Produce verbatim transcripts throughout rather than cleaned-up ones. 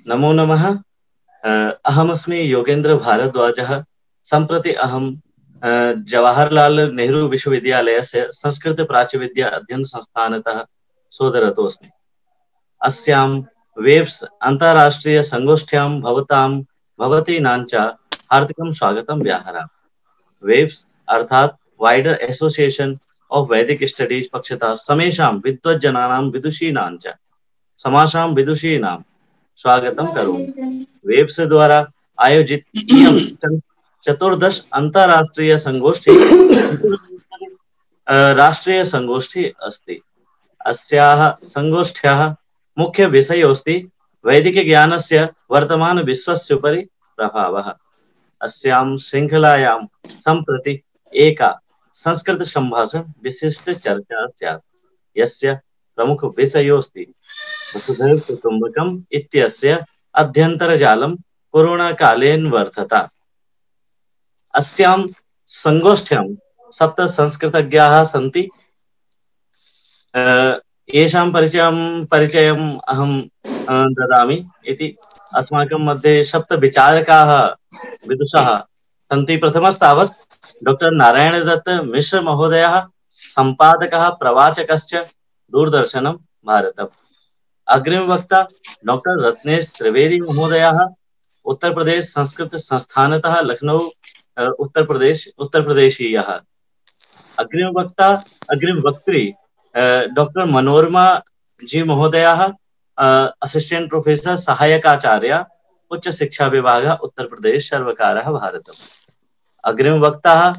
नमो नमः। अहमस्मि योगेन्द्र भारद्वाजः। सम्प्रति अहं जवाहरलाल नेहरू विश्वविद्यालयस्य संस्कृत प्राच्यविद्या अध्ययन संस्थानतः शोधरतोऽस्मि। अस्यां वेब्स अन्ताराष्ट्रीय संगोष्ठ्यां भवतां भवतीनां च हार्दिकं स्वागतं व्याहरामि। वेब्स अर्थात वाइडर एसोसिएशन ऑफ वैदिक स्टडीज पक्षतः समेषां विद्वज्जनानां विदुषीणां च समासां विदुषीणां स्वागतं करोमि। वेब्स द्वारा आयोजित इयं चतुर्दश अंतरराष्ट्रीय संगोष्ठी राष्ट्रीय संगोष्ठी अस्ति। अस्याः संगोष्ठ्याः मुख्य विषयोऽस्ति वैदिक ज्ञानस्य वर्तमान विश्वस्य उपरि प्रभावः। अस्यां श्रृंखलायां सम्प्रति एका संस्कृत संभाषण विशिष्ट चर्चा स्यात्, यस्य प्रमुख विषयोऽस्ति वसुधैव कुटुम्बकम् इत्यस्य अध्यन्तरजालं कोरोना कालेन वर्धता। अस्यां संगोष्ठ्यां सप्त संस्कृतज्ञाः सन्ति। येषां परिचयं परिचयम् अहं ददामि इति। अस्माकं मध्ये सप्त विचारकाः विदुषाः सन्ति। प्रथमस्तावत् डॉक्टर नारायणदत्त मिश्र महोदयः, संपादकः प्रवाचकश्च, दूरदर्शनं भारतम्। अग्रिमवक्ता डॉक्टर रत्नेश त्रिवेदी महोदयः, उत्तर प्रदेश संस्कृत संस्थानतः लखनऊ उत्तर प्रदेश उत्तर प्रदेशीयः। अग्रिमवक्ता अग्रिमवक्त्री डॉक्टर मनोरमा जी महोदयः, असिस्टेंट प्रोफेसर सहायकाचार्य, उच्च शिक्षा विभाग उत्तर प्रदेश सर्वकारः भारतम्। अग्रिमवक्ता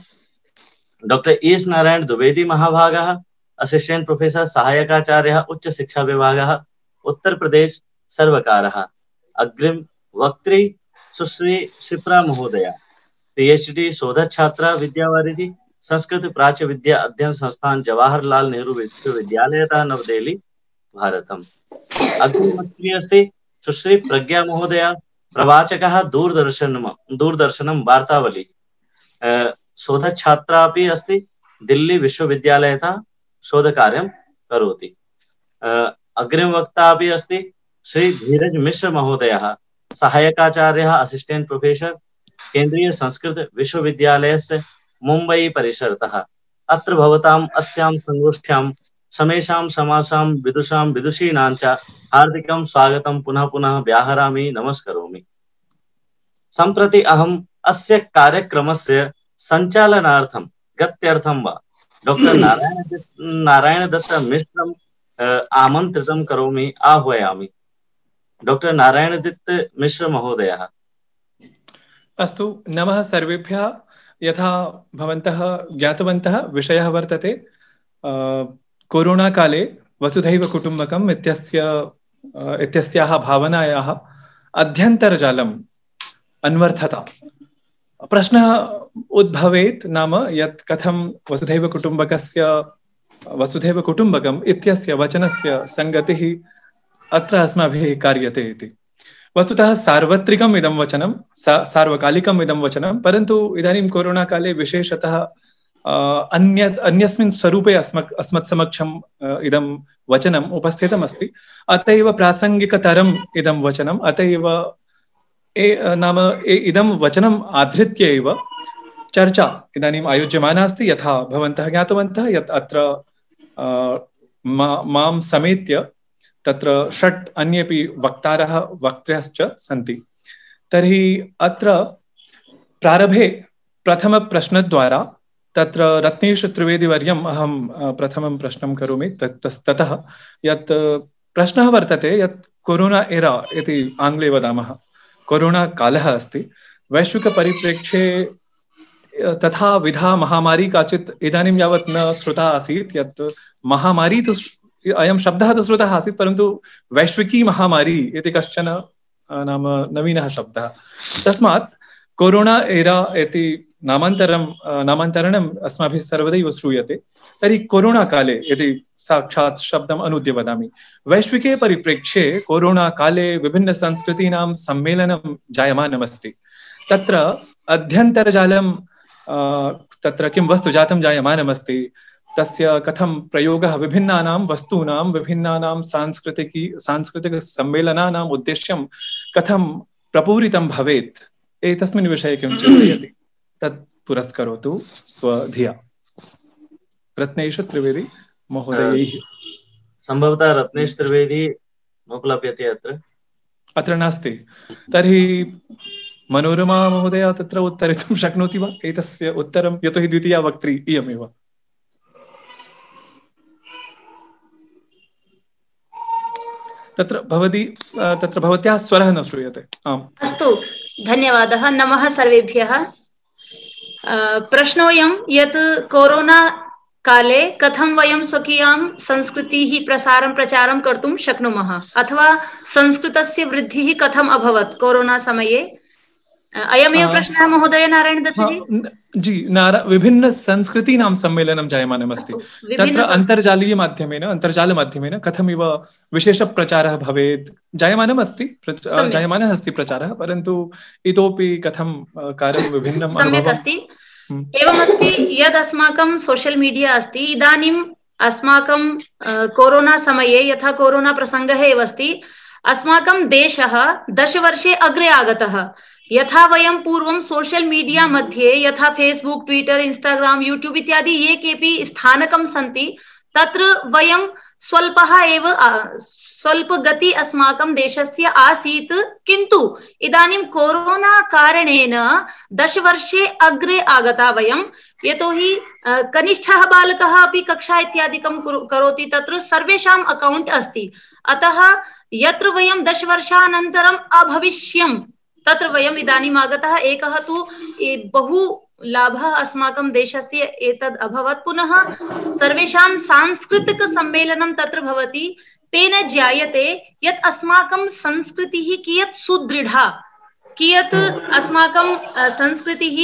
डॉक्टर एस नारायण द्विवेदी महाभागः, असिस्टेंट प्रोफेसर सहायकाचार्य, उच्च शिक्षा विभाग उत्तर प्रदेश सर्वकारः। अग्रिम वक्त्री सुश्री शिप्रा महोदया, पीएचडी शोधक छात्रा, विद्यावारिधि, संस्कृत प्राच्य विद्या अध्ययन संस्थान जवाहरलाल नेहरू विश्वविद्यालयतः नवदेहली भारतम्। अग्रिम वक्त्री अस्ति सुश्री प्रज्ञा महोदया, प्रवाचकः, दूरदर्शनं दूरदर्शनं वार्तावली, शोधक छात्रा अपि अस्ति, दिल्ली विश्वविद्यालयतः शोधकार्यं करोति। अग्रिम वक्ता अपि अस्ति श्री धीरज मिश्र महोदयः, सहायकाचार्यः, असिस्टेंट प्रोफेसर, केंद्रीय संस्कृत विश्वविद्यालयस्य मुंबई परिसरतः। अत्र भवताम् अस्यां संगोष्ठ्यां समेषां समासां विदुषां विदुषीणां च हार्दिकं स्वागतं पुनः पुनः व्याहरामि, नमस्करोमि। सम्प्रति अहम् अस्य कार्यक्रमस्य सञ्चालनार्थं गत्यर्थं वा डॉक्टर नारायण नारायणदत्त मिश्रं आमन्त्रितं करोमि, आह्वयामि। डॉक्टर नारायणदत्त मिश्र महोदयः। अस्तु, नमः सर्वेभ्यः। यथा भवन्तः ज्ञातवन्तः, विषयः वर्तते कोरोना काले वसुधैव कुटुम्बकम् इत्यस्य इत्यस्याः भावनायाः अध्यन्तरजालम् अन्वर्थता। प्रश्नः उद्भवेत्, नाम यत् कथं वसुधैव कुटुम्बकस्य वसुधैव कुटुम्बकम् इत्यस्य वचनस्य संगतिः अत्र अस्माभिः कार्यते इति। वस्तुतः सार्वत्रिकम् इदं वचनं, सा सार्वकालिकम् इदं वचनं, परन्तु इदानीं कोरोना काले विशेषतः अन्य अन्यस्मिन् स्वरूपे अस्मत् अस्मत् समक्षम् इदं वचनम् उपस्थितम् अस्ति। अत एव प्रासङ्गिकतरम् इदं वचनम्, अत एव ए नाम इदं वचनम् आधृत्य एव चर्चा इदानीम् आयोज्यमाना अस्ति। यथा भवन्तः ज्ञातवन्तः यत् अत्र मा मां समेत्य तत्र षट् अन्येपि वक्तारः वक्त्र्यश्च सन्ति। तर्हि अत्र प्रारम्भे प्रथमप्रश्नद्वारा तत्र रत्नेश त्रिवेदीवर्यम् अहं प्रथमं प्रश्नं करोमि। ततः यत् प्रश्नः वर्तते यत् कोरोना एरा इति आङ्ग्ले वदामः, कोरोना कालः अस्ति। वैश्विकपरिप्रेक्ष्ये तथा विधा महामारी काचित् इदानीं यावत् न श्रुता आसीत्। यत् महामारी तु अयं शब्दः तु श्रुतः आसीत्, परन्तु वैश्विकी महामारी इति कश्चन नाम नवीनः शब्दः। तस्मात् कोरोना एरा इति नामान्तरं नामान्तरणम् अस्माभिः सर्वदैव श्रूयते। तर्हि कोरोना काले यदि साक्षात् शब्दम् अनुद्य वदामि, वैश्विके परिप्रेक्ष्ये कोरोना काले विभिन्नसंस्कृतीनां सम्मेलनं जायमानमस्ति। तत्र अध्यन्तरजालं तत्र किं वस्तु जातं जायमानमस्ति, तस्य कथं प्रयोगः विभिन्नानां वस्तूनां विभिन्नानां सांस्कृतिकी सांस्कृतिकसम्मेलनानाम् उद्देश्यं कथं प्रपूरितं भवेत् एतस्मिन् विषये किं चिन्तयति तत् पुरस्करोतु स्वधिया। रत्नेश त्रिवेदी महोदयैः। सम्भवतः रत्नेश त्रिवेदी नोपलभ्यते अत्र अत्र नास्ति। तर्हि मनोरमा महोदया तत्र उत्तरितुं शक्नोति वा एतस्य उत्तरं, यतोहि द्वितीया वक्त्री इयमेव। तत्र भवती तत्र भवत्याः स्वरः न श्रूयते। आम् अस्तु, धन्यवादः। नमः सर्वेभ्यः। प्रश्नोऽयं यत् कोरोना काले कथं वयं स्वकीयां संस्कृतिः प्रसारं प्रचारं कर्तुं शक्नुमः अथवा संस्कृतस्य वृद्धिः कथम् अभवत् कोरोना समये, अयमेव प्रश्नः महोदय नारायण दत्त जी। जी, नारा विभिन्न संस्कृतीनां सम्मेलनं जायमानमस्ति। तत्र अन्तर्जालीय माध्यमेन अन्तर्जालमाध्यमेन कथमिव विशेषप्रचारः भवेत् जायमानमस्ति जायमानः अस्ति प्रचारः, परन्तु इतोपि कथं कार्यं विभिन्नं सम्यक् अस्ति। एवमस्ति यद् अस्माकं सोशल मीडिया अस्ति, इदानीम् अस्माकं कोरोना समये यथा कोरोना प्रसङ्गः एव अस्ति, अस्माकं देशः दशवर्षे अग्रे आगतः। यथा वयं पूर्वं सोशल मीडिया मध्ये यथा फेसबुक, ट्विटर, इंस्टाग्राम, यूट्यूब इत्यादि ये केपि स्थानकं सन्ति तत्र वयं स्वल्पः एव स्वल्प गति अस्माकं देशस्य आसीत्, किन्तु इदानीं कोरोना कारणेन दशवर्षे अग्रे आगता वयं। यतोहि कनिष्ठः बालकः अपि कक्षा इत्यादिकं करोति, तत्र सर्वेषाम् अकौण्ट् अस्ति। अतः यत्र वयं दशवर्षानन्तरम् अभविष्यं तत्र वयम् इदानीम् आगतः। एकः तु बहु लाभः अस्माकं देशस्य एतद् अभवत्। पुनः सर्वेषां सांस्कृतिक सम्मेलनं तत्र भवति, तेन ज्ञायते यत् अस्माकं संस्कृतिः कियत् सुदृढा, कियत् अस्माकं संस्कृतिः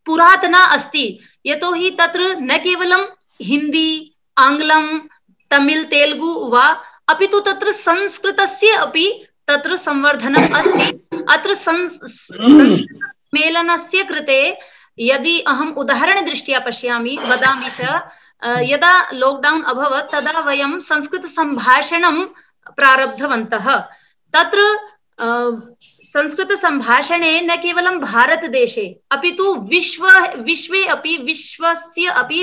पुरातना अस्ति। यतोहि तत्र न केवलं हिंदी, आङ्ग्लं, तमिल, तेलुगु वा, अपि तु तत्र संस्कृतस्य अपि तत्र संवर्धनम् अस्ति। अत्र सम्मेलनस्य कृते यदि अहम् उदाहरणदृष्ट्या पश्यामि वदामि च, यदा लॉकडाउन अभवत् तदा वयं संस्कृत संभाषणं प्रारब्धवन्तः। तत्र संस्कृत संभाषणे न केवलं भारतदेशे अपि तु विश्व विश्वे अपि विश्वस्य अपि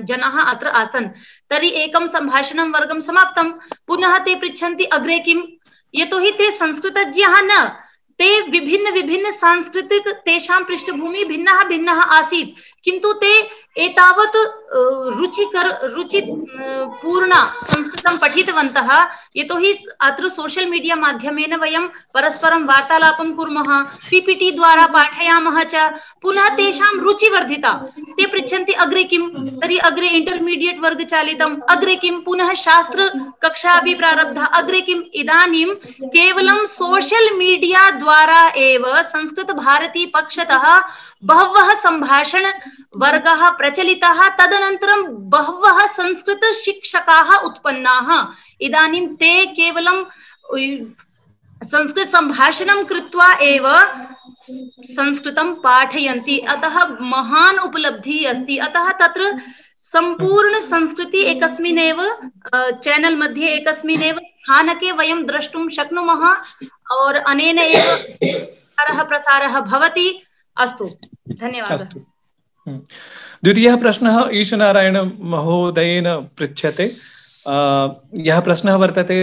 जनाः अत्र आसन्। तर्हि एकं संभाषणं वर्गं समाप्तं, पुनः ते पृच्छन्ति अग्रे किम्, यतोहि ते संस्कृतज्ञाः न, ते विभिन्न विभिन्न सांस्कृतिक तेषां पृष्ठभूमि भिन्नः भिन्नः आसीत्, किन्तु ते एतावत् रुचिकर रुचि पूर्ण संस्कृतं पठितवन्तः। यतोहि अत्र सोशल मीडिया माध्यमेन वयं परस्परं वार्तालापं कुर्मः, पीपीटी द्वारा पाठयामः च, पुनः तेषां रुचि वर्धिता। ते पृच्छन्ति अग्रे किं, तर्हि अग्रे इंटरमीडिएट वर्ग चालितम्, अग्रे किं, पुनः शास्त्र कक्षा अपि प्रारब्धा, अग्रे किम्। इदानीं केवलं सोशल मीडिया द्वारा एव संस्कृत भारती पक्षतः बहवः संभाषण वर्गाः प्रचलिताः, तदनन्तरं बहवः संस्कृत शिक्षकाः उत्पन्नाः। इदानीं ते केवलं संस्कृत संभाषणं कृत्वा एव संस्कृतं पाठयन्ति। अतः महान् उपलब्धिः अस्ति। अतः तत्र संपूर्ण संस्कृति एकस्मिन्नेव चैनल मध्ये एकस्मिन्नेव स्थानके वयं द्रष्टुं शक्नुमः और अनेन एव प्रसारः प्रसारः भवति। अस्तु, धन्यवादः। द्वितीयः प्रश्नः ईशनारायण महोदयेन पृच्छ्यते। यः प्रश्नः वर्तते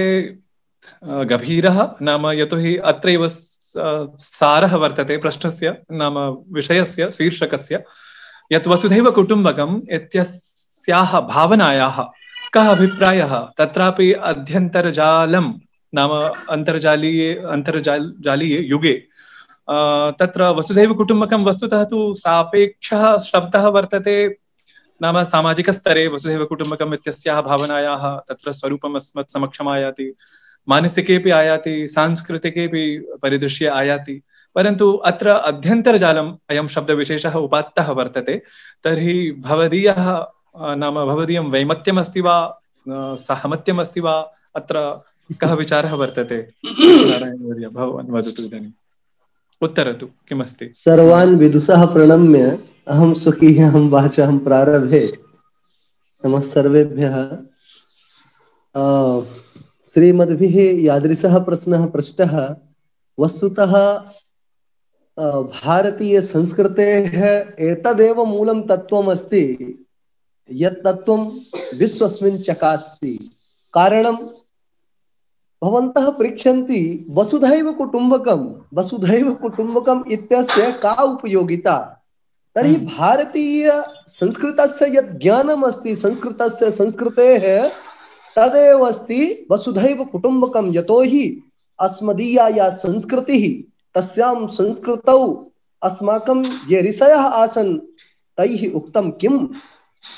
गभीरः, नाम यतोहि अत्रैव सारः वर्तते प्रश्नस्य, नाम विषयस्य शीर्षकस्य, यत् वसुधैव कुटुम्बकम् इत्यस्याः भावनायाः कः अभिप्रायः। तत्रापि अध्यन्तर्जालं नाम अन्तर्जालीये अन्तर्जालीये युगे तत्र वसुधैव कुटुम्बकं वस्तुतः तु सापेक्षः शब्दः वर्तते। नाम सामाजिकस्तरे वसुधैव कुटुम्बकम् इत्यस्याः भावनायाः तत्र स्वरूपम् अस्मत् समक्षम् आयाति, मानसिकेपि आयाति, सांस्कृतिकेपि परिदृश्ये आयाति, परन्तु अत्र अध्यन्तर्जालम् अयं शब्दविशेषः उपात्तः वर्तते। तर्हि भवदीयः नाम भवदीयं वैमत्यमस्ति वा सहमत्यम् अस्ति वा, अत्र कः विचारः वर्तते? नारायणवर्य भवान् वदतु इदानीम्, उत्तरतु किमस्ति। सर्वान् विदुषः प्रणम्य अहं स्वकीयां वाचां प्रारभे। नमः सर्वेभ्यः। श्रीमद्भिः यादृशः प्रश्नः पृष्टः, वस्तुतः भारतीयसंस्कृतेः एतदेव मूलं तत्त्वम् अस्ति, यत् तत्त्वं विश्वस्मिन् चकास्ति। कारणं भवन्तः पृच्छन्ति वसुधैव कुटुम्बकं, वसुधैव कुटुम्बकम् इत्यस्य का उपयोगिता? तर्हि भारतीय संस्कृतस्य यत् ज्ञानम् अस्ति, संस्कृतस्य संस्कृतेः तदेव अस्ति वसुधैव कुटुम्बकं। यतोहि अस्मदीया या संस्कृतिः, तस्यां संस्कृतौ अस्माकं ये ऋषयः आसन् तैः उक्तं किम्?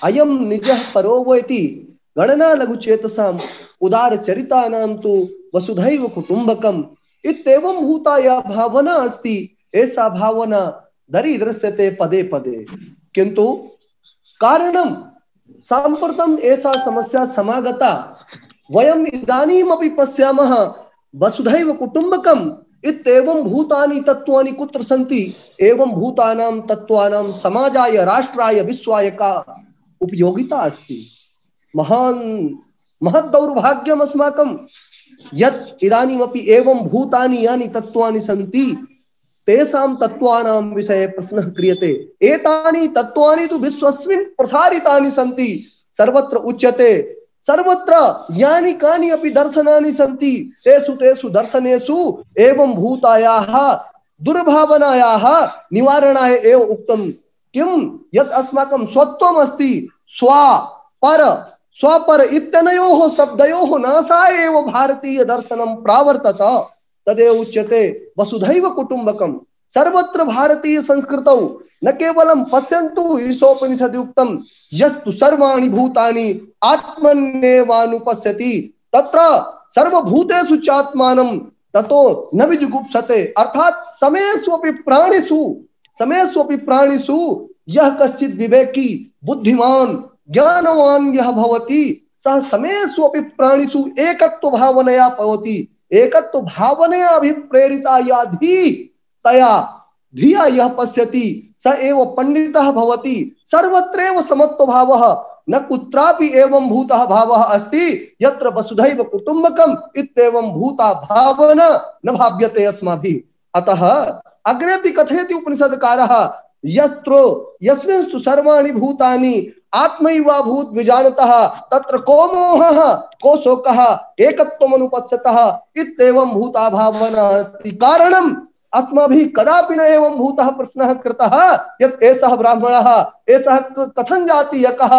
अयं निजः परो वेति गणना लघुचेतसाम् उदारचरितानां तु वसुधैव कुटुम्बकम् इत्येवं भूता या भावना अस्ति, ऐसा भावना दरीदृश्यते पदे पदे। किंतु कारणं साम्प्रतम् ऐसा समस्या समागता। वयम् इदानीमपि पश्यामः वसुधैव कुटुम्बकम् इत्येवं भूतानि तत्त्वानि कुत्र सन्ति? एवं भूतानां तत्त्वानां समाजाय, राष्ट्राय, विश्वाय का उपयोगिता अस्ति? महान् महत् दौर्भाग्यम् अस्माकं यत् इदानीमपि एवं भूतानि यानि तत्त्वानि सन्ति, तेषां तत्त्वानां विषये प्रश्नः क्रियते। एतानि तत्त्वानि तु विश्वस्मिन् प्रसारितानि सन्ति। सर्वत्र उच्यते, सर्वत्र यानि कानि अपि दर्शनानि सन्ति, तेषु तेषु दर्शनेषु एवं भूतायाः दुर्भावनायाः निवारणाय एव उक्तं किं? यत् अस्माकं स्वत्वम् अस्ति, स्वा पर स्वपर इत्यनयोः शब्दयोः नाशाय एव भारतीय दर्शनं प्रावर्तत। तदेव उच्यते वसुधैव कुटुम्बकम्। सर्वत्र भारतीय संस्कृतौ न केवलं पश्यन्तु, ईशोपनिषदि उक्तं यस्तु सर्वाणि भूतानि आत्मन्येवानुपश्यति तत्र सर्वभूतेषु चात्मानं ततो न विजुगुप्सते। अर्थात समेष्वपि प्राणिषु समेष्वपि प्राणिषु यः कश्चित् विवेकी बुद्धिमान ज्ञानवान यः भवति, सः समेष्वपि प्राणिषु एकत्व भावनया भवति। एकत्व भावनया अभिप्रेरिता या धी तया धिया यः पश्यति स एव पंडितः भवति। सर्वत्रैव समत्व भावः, न कुत्रापि एवं भूतः भावः अस्ति यत्र वसुधैव कुटुम्बकम् इत्येवं भूता भावना न भाव्यते अस्माभिः। अतः अग्रेपि कथयति उपनिषदकारः, यत्र यस्मिंस्तु सर्वाणि भूतानि आत्मैवाभूत विजानतः तत्र को मोहः को शोकः एकत्वमनुपश्यतः इत्येवं भूता भावना अस्ति। कारणम् अस्माभिः कदापि न एवं भूतः प्रश्नः कृतः यत् एषः ब्राह्मणः, एषः कथं जातीयकः,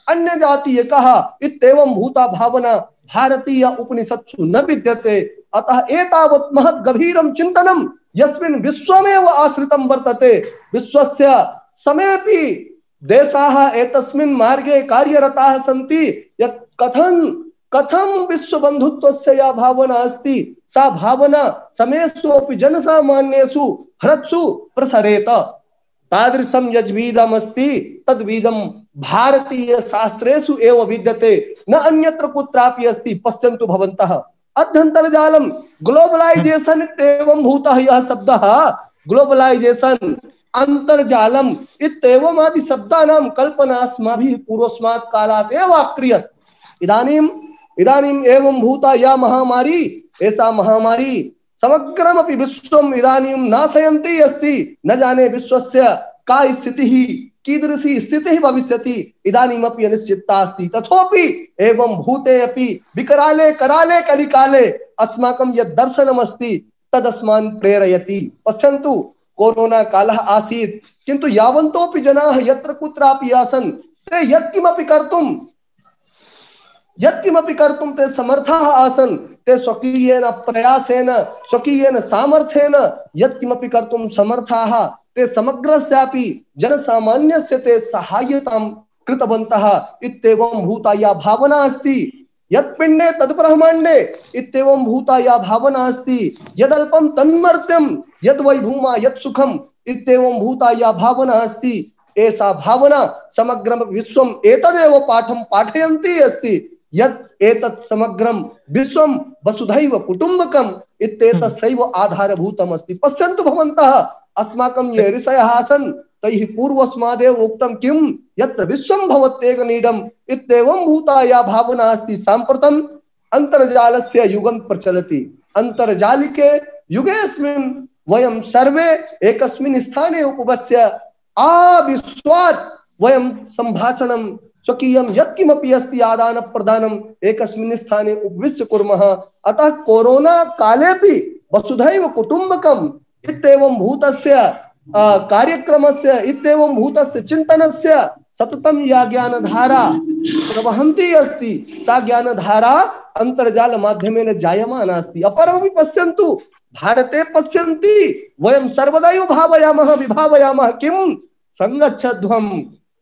अन्य जातीयकः इत्येवं भूता भावना भारतीय उपनिषत्सु न विद्यते। अतः एतावत् महत् गभीरं चिन्तनं यस्मिन् विश्वमेव आश्रितं वर्तते, विश्वस्य समेपि देशाः एतस्मिन् मार्गे कार्यरताः सन्ति यत् कथं कथं विश्वबन्धुत्वस्य या भावना अस्ति, सा भावना समेषु अपि जनसामान्येषु हृत्सु प्रसरेत। तादृशं यद्वीदम् अस्ति तद्वीदं भारतीय शास्त्रेषु एव विद्यते, न अन्यत्र कुत्रापि अस्ति। पश्यन्तु भवन्तः, अध्यन्तर्जालं ग्लोबलाइजेशन इत्येवं भूतः यः शब्दः, ग्लोबलाइजेशन अंतर्जालम इत्येवम् आदि शब्दानां कल्पना अस्माभिः पूर्वस्मात् कालात् एव अक्रियत। इदानीम् इदानीम् एवं भूता या महामारी, ऐसा महामारी समग्रमपि विश्वम् इदानीं नाशयन्ती अस्ति। न जाने विश्वस्य का स्थितिः, कीदृशी स्थितिः भविष्यति, इदानीमपि अनिश्चितता अस्ति। तथापि एवं भूते अपि विकराले कराले कलिकाले अस्माकं यद् दर्शनमस्ति तदस्मान् प्रेरयति। पश्यन्तु, कोरोना कालः आसीत्, किन्तु यावन्तोपि जनाः यत्र कुत्रापि आसन्, ते यत्किमपि कर्तुं यत्किमपि कर्तुं ते समर्थाः आसन्। ते स्वकीयेन प्रयासेन, स्वकीयेन सामर्थ्येन यत्किमपि कर्तुं समर्थाः। ते समग्रस्यापि जनसामान्यस्य ते सहायतां कृतवन्तः। इत्येवं भूता या भावना अस्ति, यत्पिण्डे तद्ब्रह्माण्डे इत्येवं भूता या भावना अस्ति, यदल्पं तन्मर्त्यं यद्वैभूमा यत्सुखम् इत्येवं भूता या भावना अस्ति, ऐसा भावना समग्रं विश्वम् एतदेव पाठं पाठयन्ती अस्ति यत् एतत् समग्रं विश्वं वसुधैव कुटुम्बकम् इत्येतस्यैव आधारभूतम् अस्ति। पश्यन्तु भवन्तः, अस्माकं ये ऋषयः आसन् तैः पूर्वस्मादेव उक्तं किं यत्र विश्वं भवत्येकनीडम् इत्येवं भूता या भावना अस्ति साम्प्रतम् अन्तर्जालस्य युगं प्रचलति। अन्तर्जालिके युगेऽस्मिन् वयं सर्वे एकस्मिन् स्थाने उपविश्य आविश्वात् वयं सम्भाषणं स्वकीयं यत्किमपि अस्ति आदान प्रदानम् एकस्मिन् स्थाने उपविश्य कुर्मः। अतः कोरोना कालेपि वसुधैव कुटुम्बकम् इत्येवं भूतस्य कार्यक्रमस्य इत्येवं भूतस्य चिन्तनस्य सततं या ज्ञानधारा प्रवहन्ती अस्ति सा ज्ञानधारा अन्तर्जाल माध्यमेन जायमाना अस्ति। अपरमपि पश्यन्तु, भारते पश्यन्ति वयं सर्वदैव भावयामः विभावयामः किं संगच्छध्वं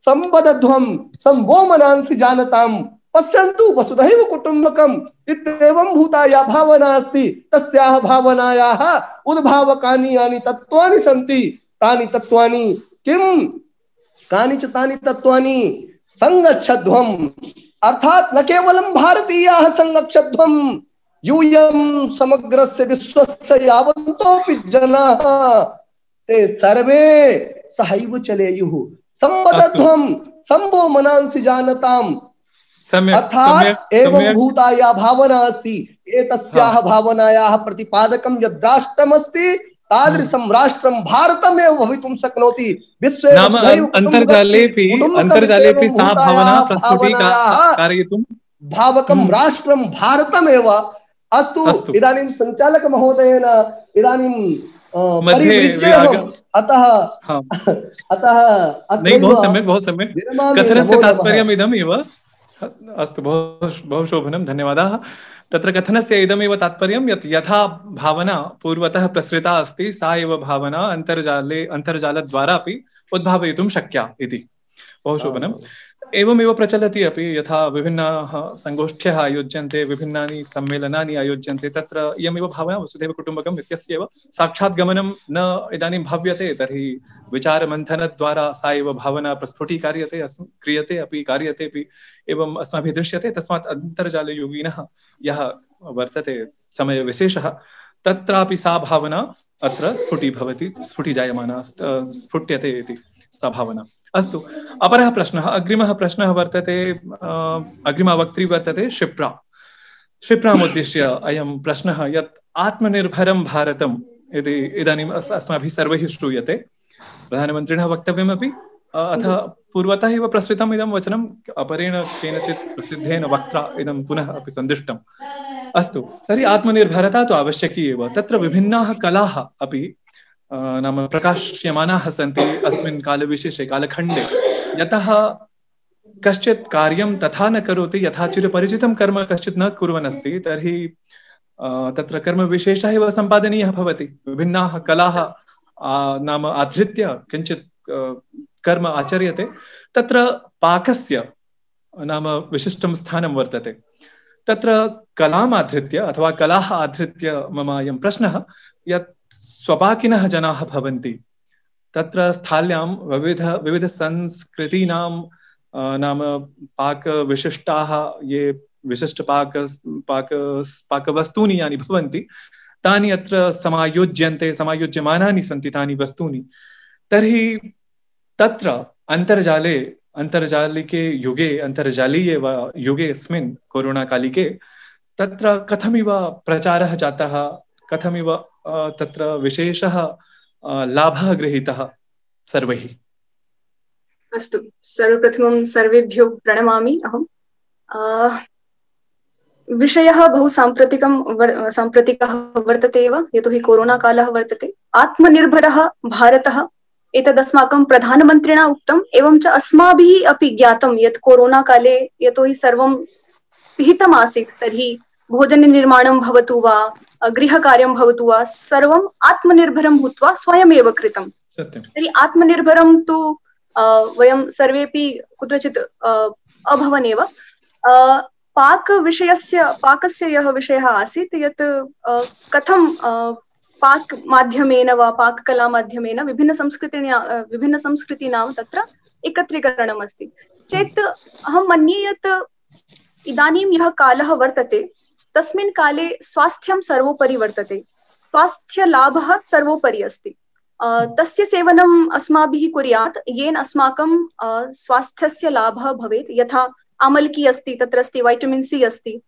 संवदध्वं संवो मनांसि जानताम्। पश्यन्तु वसुधैव कुटुम्बकम् इत्येवं भूता या भावना अस्ति तस्याः भावनायाः उद्भावकानि यानि तत्त्वानि सन्ति तानि तत्त्वानि किं कानि च तानि तत्त्वानि संगच्छध्वम्। अर्थात न केवलं भारतीयाः संगच्छध्वम् यूयं समग्रस्य विश्वस्य यावन्तोऽपि जनाः ते सर्वे सहैव चलेयुः। संवदध्वं संवो मनांसि जानताम्। अर्थात एवं भूता या भावना अस्ति एतस्याः भावनायाः प्रतिपादकं यद् राष्ट्रमस्ति तादृशं राष्ट्रं भारतमेव भवितुं शक्नोति। विश्वे अन्तर्जालेऽपि अन्तर्जालेऽपि सा भावना प्रस्फुटीकारयितुं भावकं राष्ट्रं भारतमेव। अस्तु, इदानीं सञ्चालक महोदयेन इदानीं परिवृज्यम्। अतः अतः नहीं, बहुत सम्यक् बहुत सम्यक् कथनस्य तात्पर्यम् इदमेव। अस्तु, बहु बहु शोभनं, धन्यवादाः। तत्र कथनस्य इदमेव तात्पर्यं यत् यथा भावना पूर्वतः प्रसृता अस्ति सा एव भावना अन्तर्जाले अन्तर्जालद्वारा अपि उद्भावयितुं शक्या इति। बहु शोभनम्। एवमेव प्रचलति अपि, यथा विभिन्नाः संगोष्ठ्यः आयोज्यन्ते, विभिन्नानि सम्मेलनानि आयोज्यन्ते, तत्र इयमेव भावना वसुधैव कुटुम्बकम् इत्यस्यैव साक्षात् गमनं न इदानीं भाव्यते। तर्हि विचारमन्थनद्वारा सा एव भावना प्रस्फुटीकार्यते, क्रियते अपि, कार्यते अपि, एवम् अस्माभिः दृश्यते। तस्मात् अन्तर्जालयोगिनः यः वर्तते समयविशेषः तत्रापि सा भावना अत्र स्फुटीभवति, स्फुटीजायमाना स्फुट्यते इति सा भावना। अस्तु, अपरः प्रश्नः, अग्रिमः प्रश्नः वर्तते, अग्रिमा वक्त्री वर्तते शिप्रा। शिप्रामुद्दिश्य अयं प्रश्नः यत् आत्मनिर्भरं भारतम् इति इदानीम् अस्माभिः सर्वैः श्रूयते। प्रधानमन्त्रिणः वक्तव्यमपि, अथ पूर्वतः एव प्रसृतम् इदं वचनम् अपरेण केनचित् प्रसिद्धेन वक्त्रा इदं पुनः अपि सन्दृष्टम्। अस्तु, तर्हि आत्मनिर्भरता तु आवश्यकी एव। तत्र विभिन्नाः कलाः अपि नाम प्रकाश्यमानाः सन्ति अस्मिन् कालविशेषे, कालखण्डे। यतः कश्चित् कार्यं तथा न करोति यथा चिरपरिचितं कर्म कश्चित् न कुर्वन् अस्ति, तर्हि तत्र कर्मविशेषः एव सम्पादनीयः भवति। विभिन्नाः कलाः नाम आधृत्य किञ्चित् कर्म आचर्यते। तत्र पाकस्य नाम विशिष्टं स्थानं वर्तते। तत्र कलाम् आधृत्य अथवा कलाः आधृत्य मम अयं प्रश्नः यत् स्वपाकिनः जनाः भवन्ति, तत्र स्थाल्यां विविध विविधसंस्कृतीनां नाम पाकविशिष्टाः ये विशिष्टपाक पाक पाकवस्तूनि यानि भवन्ति तानि अत्र समायोज्यन्ते, समायोज्यमानानि सन्ति तानि वस्तूनि। तर्हि तत्र अन्तर्जाले अन्तर्जालिके युगे अन्तर्जालीये वा युगे अस्मिन् कोरोनाकालिके तत्र कथमिव प्रचारः जातः, कथमिव तत्र विशेषः लाभः गृहीतः सर्वैः। अस्तु, सर्वप्रथमं सर्वेभ्यो प्रणमामि अहम्। विषयः बहु साम्प्रतिकं वर, साम्प्रतिकः वर्तते एव, यतोहि कोरोना कालः वर्तते। आत्मनिर्भरः भारतः एतदस्माकं प्रधानमन्त्रिणा उक्तम्, एवं च अस्माभिः अपि ज्ञातं यत् कोरोना काले यतोहि सर्वं पिहितम् आसीत्, तर्हि भोजननिर्माणं भवतु वा गृहकार्यं भवतु वा सर्वम् आत्मनिर्भरं भूत्वा स्वयमेव कृतं। तर्हि आत्मनिर्भरं तु वयं सर्वेपि कुत्रचित् अभवनेव। पाकविषयस्य पाकस्य यः विषयः आसीत् यत् कथं पाक माध्यमेन वा पाककला माध्यमेन विभिन्नसंस्कृतीनां विभिन्नसंस्कृतीनां तत्र एकत्रीकरणम् अस्ति चेत् अहं मन्ये यत् इदानीं यः कालः वर्तते तस्मिन् काले स्वास्थ्यं सर्वोपरि वर्तते, स्वास्थ्यलाभः सर्वोपरि अस्ति। तस्य सेवनम् अस्माभिः कुर्यात्, येन अस्माकं स्वास्थ्यस्य लाभः भवेत्। यथा आमलकी अस्ति, तत्र अस्ति वैटमिन् सी अस्ति।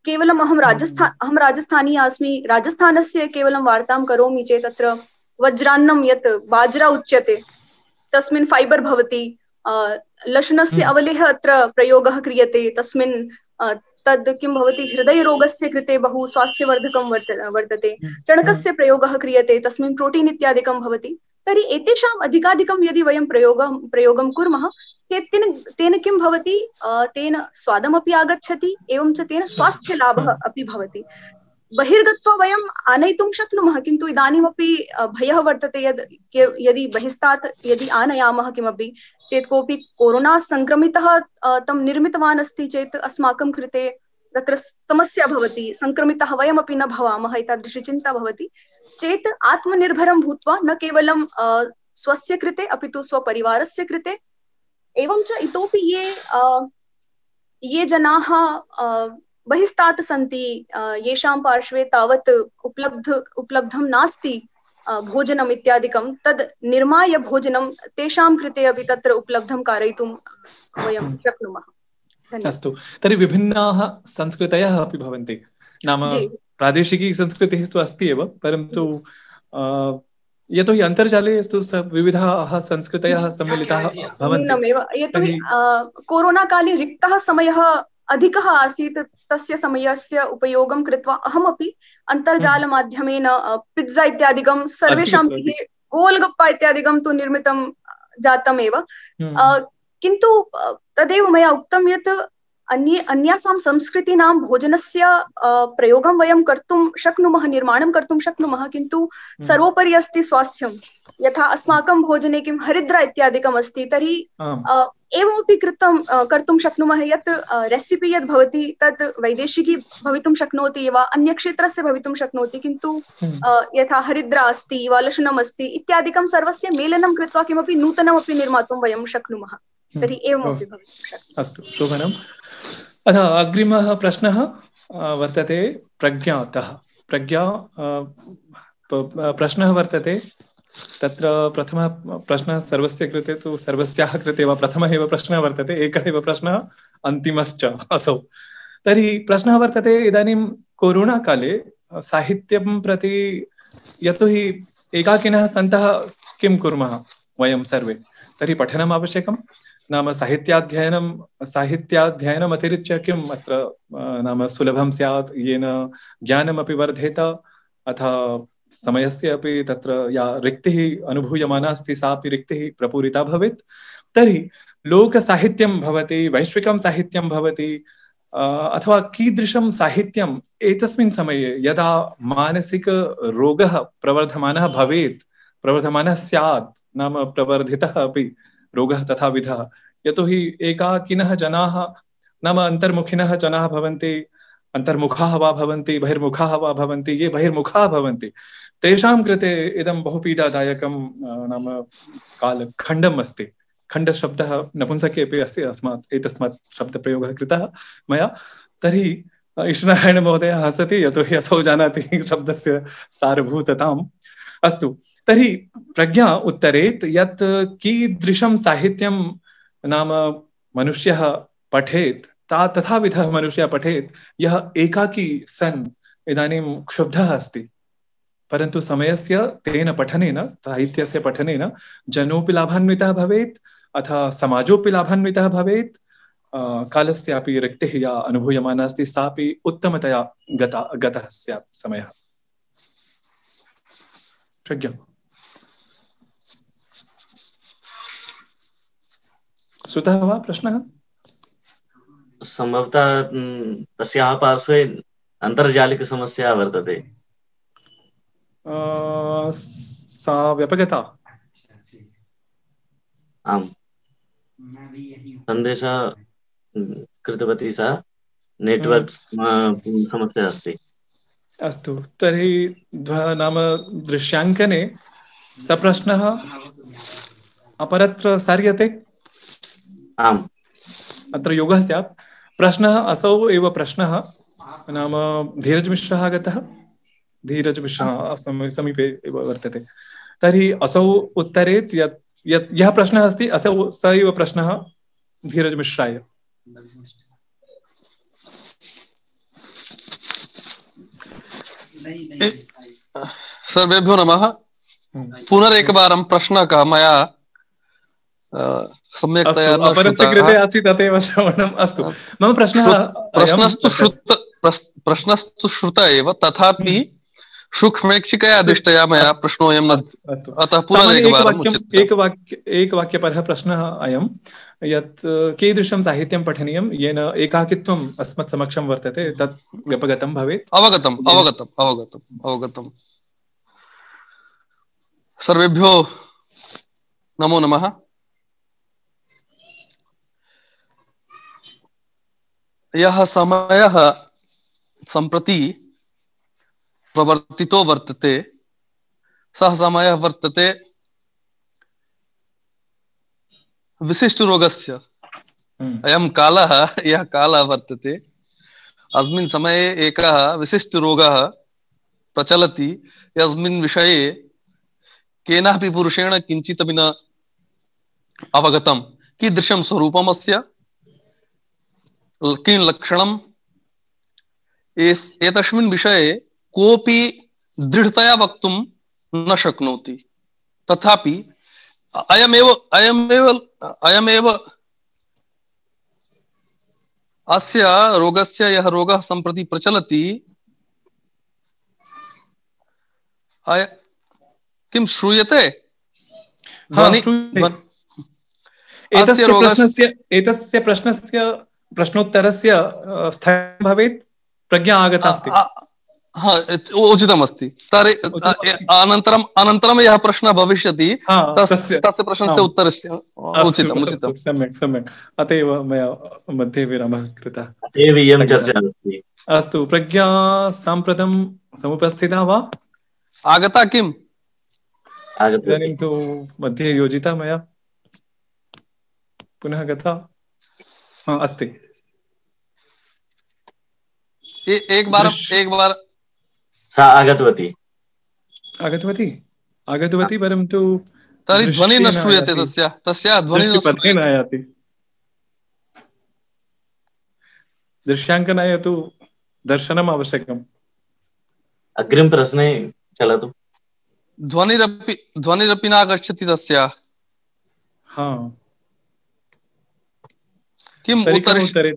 केवलम् अहं राजस्थान अहं राजस्थानीया अस्मि, राजस्थानस्य केवलं वार्तां करोमि चेत् तत्र वज्रान्नं यत् बाज्रा उच्यते तस्मिन् फैबर् भवति। लशुनस्य अवलेः अत्र प्रयोगः क्रियते, तस्मिन् तद् किं भवति, हृदयरोगस्य कृते बहु स्वास्थ्यवर्धकं वर्तते। चणकस्य प्रयोगः क्रियते, तस्मिन् प्रोटीन् इत्यादिकं भवति। तर्हि एतेषाम् अधिकाधिकं यदि वयं प्रयोगं प्रयोगं कुर्मः तेन तेन किं भवति, तेन स्वादमपि आगच्छति, एवं च तेन स्वास्थ्यलाभः अपि भवति। बहिर्गत्वा वयम् आनयितुं शक्नुमः, किन्तु इदानीमपि भयः वर्तते यद् यदि बहिस्तात् यदि आनयामः किमपि चेत् कोऽपि कोरोना संक्रमितः तं निर्मितवान् अस्ति चेत् अस्माकं कृते तत्र समस्या भवति, संक्रमितः वयमपि न भवामः, एतादृशी चिन्ता भवति चेत् आत्मनिर्भरं भूत्वा न केवलं स्वस्य कृते अपि तु स्वपरिवारस्य कृते, एवं च इतोपि ये ये जनाः बहिस्तात् सन्ति, येषां पार्श्वे तावत् उपलब्ध उपलब्धं नास्ति भोजनम् इत्यादिकं, तद् निर्माय भोजनं तेषां कृते अपि तत्र उपलब्धं कारयितुं वयं शक्नुमः। अस्तु, तर्हि विभिन्नाः संस्कृतयः अपि भवन्ति, नाम प्रादेशिकी संस्कृतिः तु अस्ति एव, परन्तु यतोहि अन्तर्जाले विविधाः संस्कृतयः सम्मिलिताः भवन्ति। यतोहि कोरोना काले रिक्तः समयः अधिकः आसीत्, तस्य समयस्य उपयोगं कृत्वा अहमपि अन्तर्जालमाध्यमेन पिज्जा इत्यादिकं सर्वेषां गृहे गोलगप्पा इत्यादिकं तु निर्मितं जातमेव, किन्तु तदेव मया उक्तं यत् अन्ये अन्यासां संस्कृतीनां भोजनस्य प्रयोगं वयं कर्तुं शक्नुमः, निर्माणं कर्तुं शक्नुमः, किन्तु सर्वोपरि अस्ति स्वास्थ्यं। यथा अस्माकं भोजने किं हरिद्रा इत्यादिकम् अस्ति, तर्हि एवमपि कृतं कर्तुं शक्नुमः यत् रेसिपि यद् भवति तत् वैदेशिकी भवितुं शक्नोति वा अन्यक्षेत्रस्य भवितुं शक्नोति, किन्तु यथा हरिद्रा अस्ति वा लशुनम् अस्ति इत्यादिकं सर्वस्य मेलनं कृत्वा किमपि नूतनमपि निर्मातुं वयं शक्नुमः। तर्हि एवमपि भवितुं शक्नोति। अस्तु, शोभनम्। अतः अग्रिमः प्रश्नः वर्तते प्रज्ञातः। प्रज्ञा प्रश्नः वर्तते, तत्र प्रथमः प्रश्नः सर्वस्य कृते तु सर्वस्याः कृते वा प्रथमः एव प्रश्नः वर्तते, एकः एव प्रश्नः अन्तिमश्च असौ। तर्हि प्रश्नः वर्तते, इदानीं कोरोना काले साहित्यं प्रति यतोहि एकाकिनः सन्तः किं कुर्मः वयं सर्वे, तर्हि पठनम् आवश्यकं, नाम साहित्याध्ययनं साहित्याध्ययनम् अतिरिच्य किम् अत्र नाम सुलभं स्यात्, येन ज्ञानमपि वर्धेत, अथ समयस्य अपि तत्र या रिक्तिः अनुभूयमाना अस्ति सापि रिक्तिः प्रपूरिता भवेत्। तर्हि लोकसाहित्यं भवति, वैश्विकं साहित्यं भवति, अथवा कीदृशं साहित्यम् एतस्मिन् समये यदा मानसिकरोगः प्रवर्धमानः भवेत्, प्रवर्धमानः स्यात्, नाम प्रवर्धितः अपि रोगः तथाविधः, यतोहि एकाकिनः जनाः नाम अन्तर्मुखिनः जनाः भवन्ति, अन्तर्मुखाः वा भवन्ति, बहिर्मुखाः वा भवन्ति, ये बहिर्मुखाः भवन्ति तेषां कृते इदं बहु पीडादायकं नाम कालखण्डम् अस्ति। खण्डशब्दः नपुंसके अपि अस्ति, अस्मात् एतस्मात् शब्दप्रयोगः कृतः मया। तर्हि ईश्वरनारायण महोदय हसति, यतोहि असौ जानाति शब्दस्य सारभूतताम्। अस्तु, तर्हि प्रज्ञा उत्तरेत् यत् कीदृशं साहित्यं नाम मनुष्यः पठेत्, ता तथाविधः मनुष्यः पठेत् यः एकाकी सन् इदानीं क्षुब्धः अस्ति, परन्तु समयस्य तेन पठनेन, साहित्यस्य पठनेन जनोऽपि लाभान्वितः भवेत्, अथ समाजोऽपि लाभान्वितः भवेत्, कालस्यापि रिक्तिः या अनुभूयमाना अस्ति सापि उत्तमतया गता गतः स्यात् समयः। प्रज्ञा श्रुतः वा प्रश्नः? संभवतः तस्याः पार्श्वे अन्तर्जालिकसमस्या वर्तते। सा व्यापकता। आम्, सन्देशः कृतवती सा, नेट्वर्क् समस्या अस्ति। अस्तु, तर्हि नाम दृश्याङ्कने सप्रश्नः अपरत्र सार्यते। आम्, अत्र योगः स्यात्। प्रश्नः असौ एव प्रश्नः, नाम धीरजमिश्रः आगतः, धीरजमिश्रः समीपे एव वर्तते। तर्हि असौ उत्तरेत् यत् यत् यः प्रश्नः अस्ति असौ स एव प्रश्नः धीरजमिश्राय। सर्वेभ्यो नमः। पुनरेकवारं प्रश्नः मया सम्यक्तया न अपरस्य कृते आसीत् अतएव श्रवणम्। अस्तु, मम प्रश्नः प्रश्नस्तु श्रुत प्रश्नस्तु श्रुत एव, तथापि सूक्ष्मेक्षिकया दृष्ट्या मया प्रश्नोऽयं न, अतः पुनरेकवारम् उच्यते। एकवाक्य एकवाक्यपरः प्रश्नः अयं यत् कीदृशं साहित्यं पठनीयं येन एकाकित्वम् अस्मत् समक्षं वर्तते तत् व्यपगतं भवेत्। अवगतम् अवगतम् अवगतम् अवगतम्। सर्वेभ्यो नमो नमः। यः समयः सम्प्रति प्रवर्तितो वर्तते सः समयः वर्तते विशिष्ट रोगस्य। अयं कालः यः कालः वर्तते, अस्मिन् समये एकः विशिष्ट रोगः प्रचलति, यस्मिन् विषये केनापि पुरुषेण किञ्चिदपि न अवगतं। कीदृशं स्वरूपम् अस्य, किं लक्षणम्, एतस्मिन् विषये कोऽपि दृढतया वक्तुं न शक्नोति। तथापि अयमेव अयमेव अयमेव अस्य रोगस्य यः रोगः सम्प्रति प्रचलति, किं श्रूयते? एतस्य प्रश्नस्य एतस्य प्रश्नस्य प्रश्नोत्तरस्य स्थगनं भवेत्, प्रज्ञा आगता अस्ति। हा, उचितमस्ति। तर्हि अनन्तरम् अनन्तरं यः प्रश्नः भविष्यति तस्य तस्य प्रश्नस्य उत्तरस्य उचितम् उचितम्। सम्यक् सम्यक्, अत एव मया मध्ये विरामः कृतः। एव इयं चर्चा अस्ति। अस्तु, प्रज्ञा साम्प्रतं समुपस्थिता वा? आगता किम्? इदानीं तु मध्ये योजिता मया, पुनः गता अस्ति। एक बार एक बार सा आगतवती आगतवती आगतवती परन्तु तर्हि ध्वनिः न श्रूयते, तस्य तस्य ध्वनिः न आयाति। दृश्याङ्कनाय तु दर्शनम् आवश्यकम्। अग्रिम प्रश्ने चलतु। ध्वनिरपि ध्वनिरपि न आगच्छति तस्य। हा, किम् उत्तरे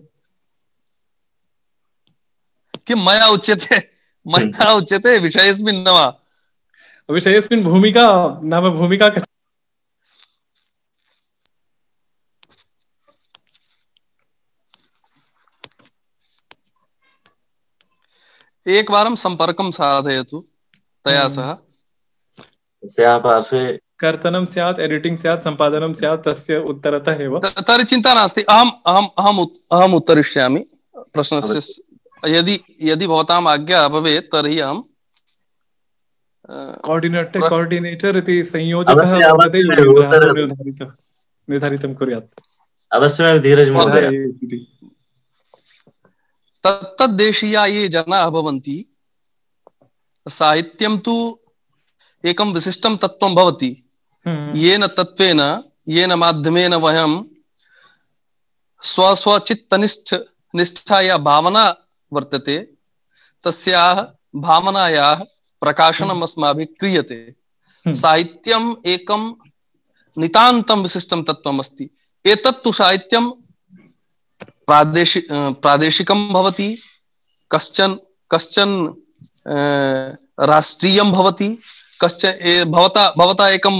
किं मया उच्यते मया उच्यते विषयस्मिन् न वा? विषयस्मिन् भूमिका नाम भूमिका कथं? एकवारं सम्पर्कं साधयतु तया सह। तस्याः पार्श्वे कर्तनं स्यात्, एडिटिंग् स्यात्, सम्पादनं स्यात्, तस्य उत्तरतः एव। तर्हि चिन्ता नास्ति, अहम् अहम् अहम् अहम् उत्तरिष्यामि प्रश्नस्य। यदि यदि भवताम् आज्ञा भवेत् तर्हि अहं कोऑर्डिनेटर कोऑर्डिनेटर इति संयोजकः वर्तते, निर्धारितं निर्धारितं कुर्यात्। अवश्यमेव धीरज महोदय। तत्तद्देशीया ये जनाः भवन्ति, साहित्यं तु एकं विशिष्टं तत्त्वं भवति, येन तत्त्वेन येन माध्यमेन वयं स्वस्वचित्तनिष्ठ निष्ठा या भावना वर्तते तस्याः भावनायाः प्रकाशनम् अस्माभिः क्रियते। साहित्यम् एकं नितान्तं विशिष्टं तत्त्वम् अस्ति। एतत् तु साहित्यं प्रादेशिक प्रादेशिकं भवति, कश्चन कश्चन राष्ट्रीयं भवति, कश्चन भवता भवता एकं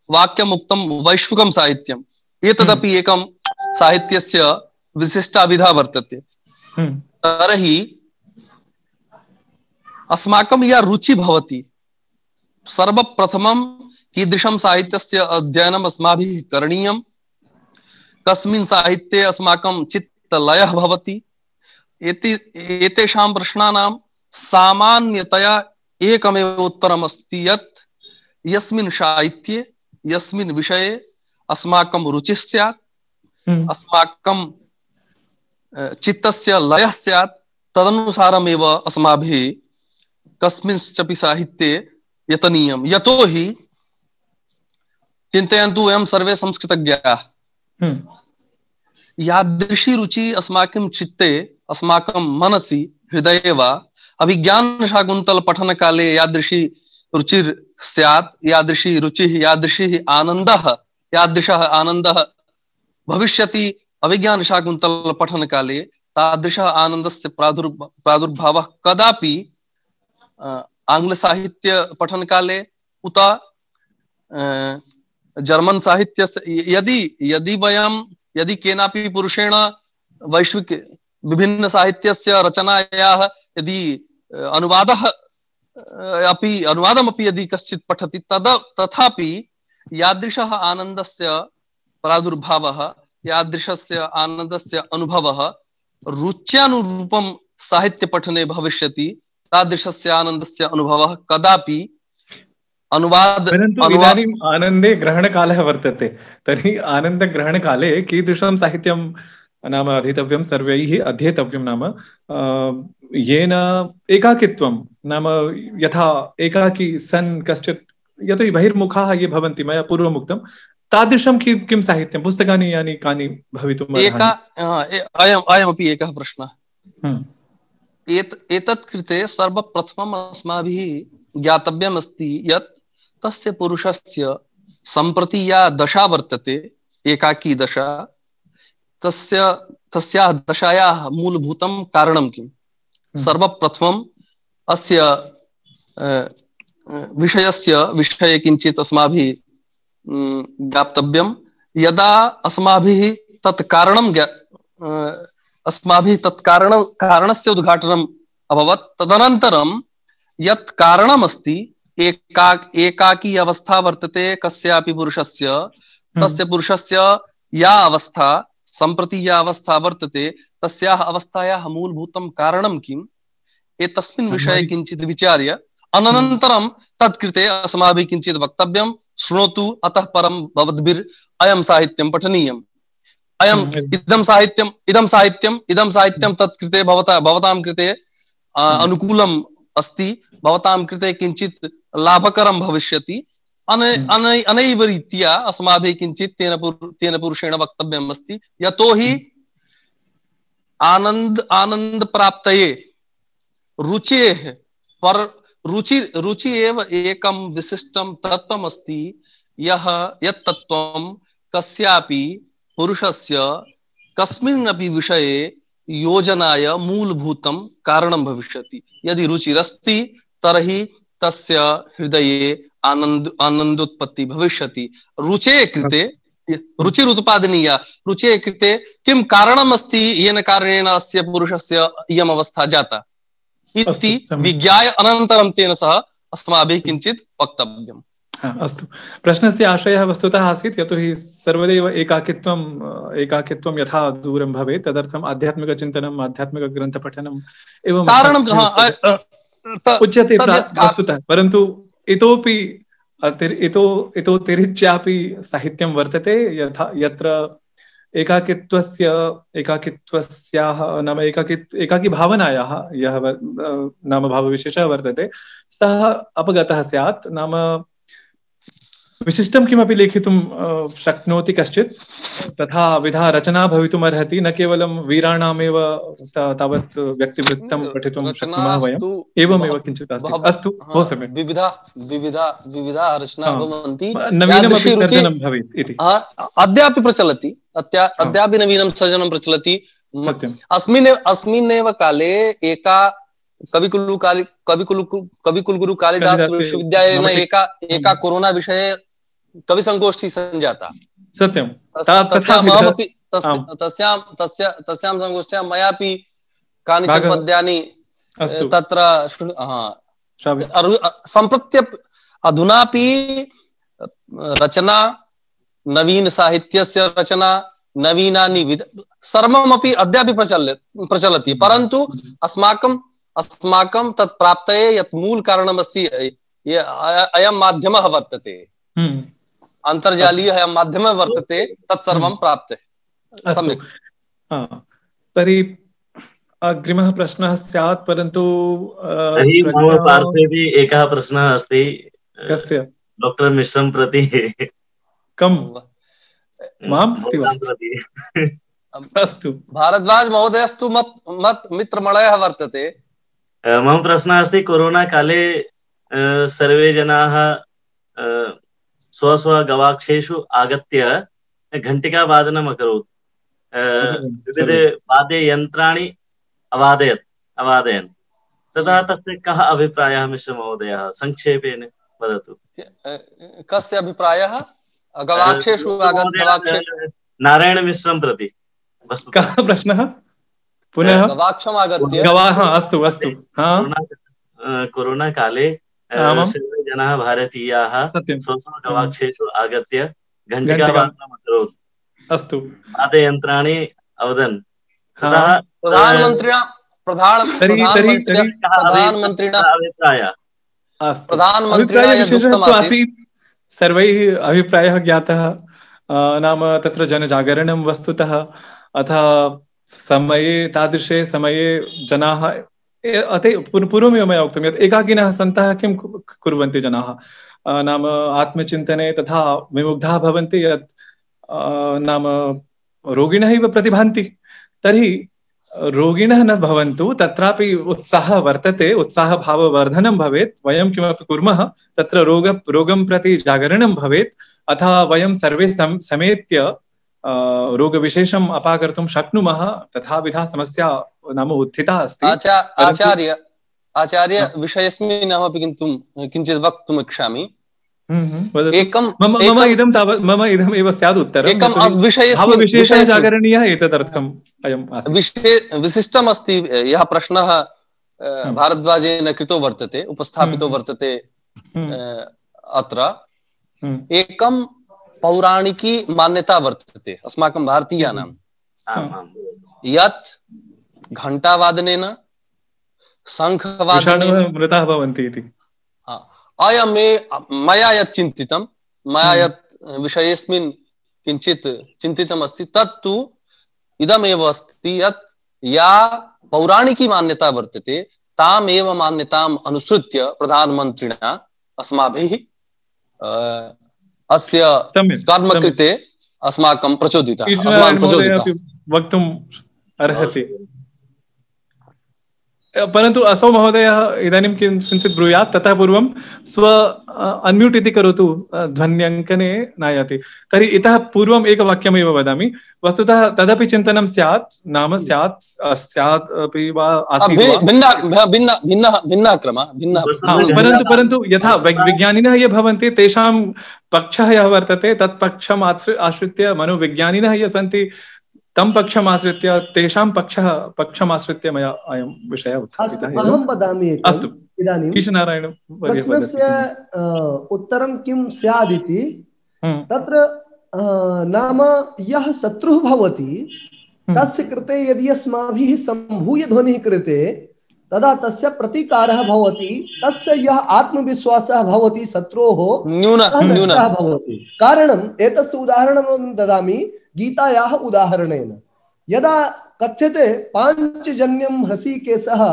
वाक्यम् उक्तं वैश्विकं साहित्यम्। एतदपि एकं साहित्यस्य विशिष्टाभिधा वर्तते। तर्हि अस्माकं या रुचि भवति, सर्वप्रथमं कीदृशं साहित्यस्य अध्ययनम् अस्माभिः करणीयं, कस्मिन् साहित्ये अस्माकं चित्तलयः भवति, एते एतेषां प्रश्नानां सामान्यतया एकमेव उत्तरम् अस्ति यत् यस्मिन् साहित्ये यस्मिन् विषये अस्माकं रुचिः स्यात्, अस्माकं चित्तस्य लयः स्यात्, तदनुसारमेव अस्माभिः कस्मिंश्चपि साहित्ये यतनीयम्। यतो हि चिन्तयन्तु वयं सर्वे संस्कृतज्ञाः। यादृशी रुचि अस्माकं चित्ते, अस्माकं मनसि, हृदये वा अभिज्ञानशाकुन्तल पठनकाले यादृशी रुचिर स्यात्, यादृशी रुचिः, यादृशी आनन्दः, यादृशः आनन्दः भविष्यति अभिज्ञानशाकुन्तल पठनकाले, तादृशः आनन्दस्य प्रादुर् प्रादुर्भावः कदापि आङ्ग्लसाहित्य पठनकाले उत जर्मन साहित्यस्य, यदि यदि वयं यदि केनापि पुरुषेण वैश्विक विभिन्न साहित्यस्य रचनायाः यदि अनुवादः अपि अनुवादमपि यदि कश्चित् पठति तद तथापि यादृशः आनन्दस्य प्रादुर्भावः, यादृशस्य आनन्दस्य अनुभवः रुच्यानुरूपं साहित्यपठने भविष्यति, तादृशस्य आनन्दस्य अनुभवः कदापि अनुवाद परन्तु इदानीम् आनन्दे ग्रहणकालः वर्तते। तर्हि आनन्दग्रहणकाले कीदृशं साहित्यं नाम अधीतव्यं, सर्वैः अध्येतव्यं, नाम येन एकाकित्वं, नाम यथा एकाकी सन् कश्चित्, यतो हि बहिर्मुखाः ये भवन्ति, मया पूर्वम् उक्तं, तादृशं किं किं साहित्यं, पुस्तकानि यानि कानि भवितुम् एका अयम् अयमपि एकः प्रश्नः। एत एतत् कृते सर्वप्रथमम् अस्माभिः ज्ञातव्यम् अस्ति यत् तस्य पुरुषस्य सम्प्रति या दशा वर्तते, एकाकी दशा, तस्य तस्याः दशायाः मूलभूतं कारणं किम्। सर्वप्रथमम् अस्य विषयस्य विषये किञ्चित् अस्माभिः ज्ञातव्यं। यदा अस्माभिः तत् कारणं अस्माभिः तत् कारणं कारणस्य उद्घाटनम् अभवत्, तदनन्तरं यत् कारणम् अस्ति, एका एकाकी अवस्था वर्तते कस्यापि पुरुषस्य, तस्य पुरुषस्य या अवस्था, सम्प्रति या अवस्था वर्तते, तस्याः अवस्थायाः मूलभूतं कारणं किम्, एतस्मिन् विषये किञ्चित् विचार्य अनन्तरं तत्कृते अस्माभिः किञ्चित् वक्तव्यं। शृणोतु, अतः परं भवद्भिः अयं साहित्यं पठनीयम्, अयम् इदं साहित्यम् इदं साहित्यम् इदं साहित्यं तत्कृते भवता भवतां कृते अनुकूलम् अस्ति, भवतां कृते किञ्चित् लाभकरं भविष्यति। अने अने अनैव रीत्या अस्माभिः किञ्चित् तेन तेन पुरुषेण वक्तव्यम् अस्ति। यतोहि आनन्द आनन्द प्राप्तये रुचेः पर रुचि रुचि एव एकं विशिष्टं तत्त्वम् अस्ति, यः यत् तत्त्वं कस्यापि पुरुषस्य कस्मिन्नपि विषये योजनाय मूलभूतं कारणं भविष्यति। यदि रुचिरस्ति तर्हि तस्य हृदये आनन्द आनन्दोत्पत्ति भविष्यति। रुचेः कृते रुचिरुत्पादनीया, रुचेः कृते किं कारणम् अस्ति, येन कारणेन अस्य पुरुषस्य इयम् अवस्था जाता इति विज्ञाय अनन्तरं तेन सह अस्माभिः किञ्चित् वक्तव्यम्। अस्तु, प्रश्नस्य आशयः वस्तुतः आसीत् यतोहि सर्वदैव एकाकित्वम् एकाकित्वं यथा दूरं भवेत् तदर्थम् आध्यात्मिकचिन्तनम्, आध्यात्मिकग्रन्थपठनम् एवं कारणं उच्यते वस्तुतः, परन्तु इतोपि इतो इतोतिरिच्यापि साहित्यं वर्तते, यथा यत्र एकाकित्वस्य एकाकित्वस्याः नाम एकाकी एकाकी भावनायाः यः नाम भावविशेषः वर्तते सः अपगतः स्यात्, नाम विशिष्टं किमपि लेखितुं शक्नोति कश्चित्, तथा विधा रचना भवितुम् अर्हति, न केवलं वीराणामेव तावत् व्यक्तिवृत्तं पठितुं शक्नुमः वयम्, एवमेव किञ्चित् अस्ति। अस्तु, बहु सम्यक्। विविधा विविधा विविधा रचना भवन्ति, नवीनमपि सर्जनं भवेत् इति अद्यापि प्रचलति, अद्यापि नवीनं सर्जनं प्रचलति। अस्मिन् अस्मिन्नेव काले एका कविकुलु कालि कविकुलु कविकुलकुलगुरु कालिदास विश्वविद्यालयेन एका एका कोरोना विषये कविसङ्गोष्ठी सञ्जाता। सत्यं, तस्यामपि तस्यां तस्य तस्यां सङ्गोष्ठ्यां मयापि कानिचन पद्यानि तत्र सम्प्रत्य अधुनापि रचना, नवीन साहित्यस्य रचना, नवीनानि विध सर्वमपि अद्यापि प्रचल प्रचलति, परन्तु अस्माकं अस्माकं तत् प्राप्तये यत् मूल कारणम् अस्ति, अयं माध्यमः वर्तते, अन्तर्जालीयः अयं माध्यमः वर्तते, तत्सर्वं प्राप्ते। सम्यक्। तर्हि अग्रिमः प्रश्नः स्यात्, परन्तु मम पार्श्वेपि एकः प्रश्नः अस्ति। कस्य? डाक्टर् मिश्रं प्रति। कम मां प्रति वा अस्तु भारद्वाज महोदयस्तु मत् मत् मित्रमणयः वर्तते। मम प्रश्नः अस्ति कोरोना काले सर्वे जनाः स्व स्व गवाक्षेषु आगत्य घण्टिकावादनम् अकरोत्, विविध वाद्ययन्त्राणि अवादयत् अवादयन् तदा तस्य कः अभिप्रायः मिश्र महोदयः संक्षेपेण वदतु। कस्य अभिप्रायः? गवाक्षेषु आगत गवाक्षे नारायण मिश्रं प्रति कः प्रश्नः? पुनः गवाक्षम् आगत्य गवाः अस्तु अस्तु कोरोना काले सर्वे जनाः भारतीयाः स्व स्व गवाक्षेषु आगत्य घण्टिकावादनम् अकरोत्, अस्तु वाद्ययन्त्राणि अवदन्। प्रधानमन्त्रिणा प्रधान प्रधानमन्त्रिणा अभिप्रायः प्रधानमन्त्रिणा यदुक्तम् आसीत् सर्वैः अभिप्रायः ज्ञातः, नाम तत्र जनजागरणं वस्तुतः अथ समये तादृशे समये जनाः अते पूर्वमेव मया उक्तं यत् एकाकिनः सन्तः किं कुर्वन्ति जनाः, नाम आत्मचिन्तने तथा विमुग्धाः भवन्ति यत् नाम रोगिणः इव प्रतिभान्ति। तर्हि रोगिणः न भवन्तु, तत्रापि उत्साहः वर्तते, उत्साहभाववर्धनं भवेत्, वयं किमपि कुर्मः तत्र रोग रोगं प्रति जागरणं भवेत्, अथवा वयं सर्वे सम, समेत्य रोगविशेषम् अपाकर्तुं शक्नुमः, तथाविधा समस्या नाम उत्थिता अस्ति। आचार्य आचार्य विषयस्मिन् अहमपि किन्तु किञ्चित् वक्तुम् इच्छामि। एकं मम मम इदं तावत् मम इदम् एव स्यात् उत्तरम्। एकं विषयस्मिन् विशेषः जागरणीयः एतदर्थम् अयम् आसीत्। विषये विशिष्टम् अस्ति यः प्रश्नः भारद्वाजेन कृतो वर्तते, उपस्थापितो वर्तते अत्र। एकं पौराणिकी मान्यता वर्तते अस्माकं भारतीयानां यत् घण्टावादनेन शङ्खवादनेन मृताः भवन्ति इति। अयमे मया यत् चिन्तितं, मया यत् विषयेऽस्मिन् किञ्चित् चिन्तितम् अस्ति तत्तु इदमेव अस्ति यत् या पौराणिकी मान्यता वर्तते तामेव मान्यताम् अनुसृत्य प्रधानमन्त्रिणा अस्माभिः अस्य कर्म कृते अस्माकं प्रचोदितः अस्मान् प्रचोदितः वक्तुम् अर्हति। परन्तु असौ महोदयः इदानीं किञ्चित् ब्रूयात्, ततः पूर्वं स्व अन्म्यूट् इति करोतु, ध्वन्यङ्कने नायाति। तर्हि इतः पूर्वम् एकवाक्यमेव वदामि, वस्तुतः तदपि चिन्तनं स्यात्, नाम स्यात् स्यात् अपि वा आसीत् वा भिन्नः क्रमः भिन्नः, परन्तु परन्तु यथा विज्ञानिनः ये भवन्ति तेषां पक्षः यः वर्तते तत् पक्षम् आश्रित्य मनोविज्ञानिनः ये सन्ति तं पक्षम् आश्रित्य तेषां पक्षः पक्षमाश्रित्य मया अयं विषयः उत्थापितः। अहं वदामि अस्तु इदानीं ईशनारायण प्रश्नस्य उत्तरं किं स्यादिति, तत्र नाम यः शत्रुः भवति तस्य कृते यदि अस्माभिः सम्भूय ध्वनिः क्रियते तदा तस्य प्रतिकारः भवति, तस्य यः आत्मविश्वासः भवति शत्रोः न्यूनः भवति। कारणम् एतस्य उदाहरणं ददामि गीतायाः उदाहरणेन। यदा कथ्यते पाञ्चजन्यं हृषीकेशः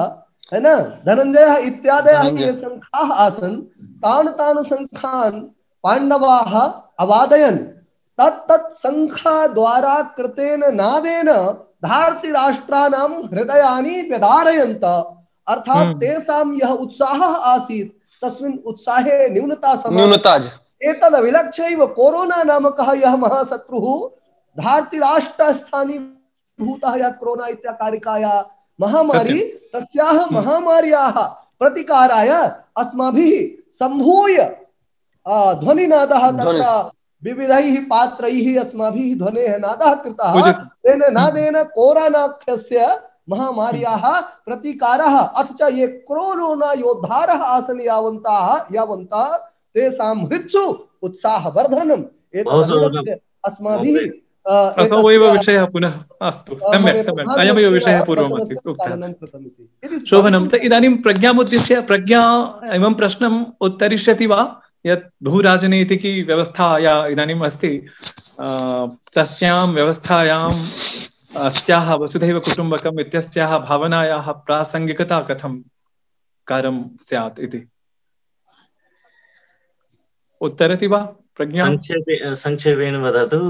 है न धनञ्जयः इत्यादयः ये शङ्खाः आसन् तान् तान् शङ्खान् पाण्डवाः अवादयन्, तत् तत् शङ्खद्वारा कृतेन नादेन धार्तराष्ट्राणां हृदयानि व्यधारयन्त, अर्थात् तेषां यः उत्साहः आसीत् तस्मिन् उत्साहे न्यूनता न्यूनता एतद् अभिलक्ष्यैव कोरोना नामकः यः महाशत्रुः धार्तराष्ट्रस्थानी भूतः यः कोरोना इत्याकारिकाया महामारी, तस्याः महामार्याः प्रतिकाराय अस्माभिः सम्भूय ध्वनिनादः तत्र विविधैः पात्रैः अस्माभिः ध्वनेः नादः कृतः, तेन नादेन कोरोनाख्यस्य महामार्याः प्रतिकारः अथ च ये कोरोना योद्धारः आसन् यावन्ताः यावन्तः तेषां हृत्सु उत्साहवर्धनम् एतत् अस्माभिः असौ एव विषयः पुनः अस्तु सम्यक् सम्यक् अयमेव विषयः पूर्वमासीत् उक्तः शोभनं। इदानीं प्रज्ञामुद्दिश्य प्रज्ञा इमं प्रश्नम् उत्तरिष्यति वा यत् भूराजनीतिकी व्यवस्था या इदानीम् अस्ति तस्यां व्यवस्थायाम् अस्याः वसुधैव कुटुम्बकम् इत्यस्याः भावनायाः प्रासङ्गिकता कथं कार्यं स्यात् इति उत्तरति वा प्रज्ञा संक्षेपेण वदतु।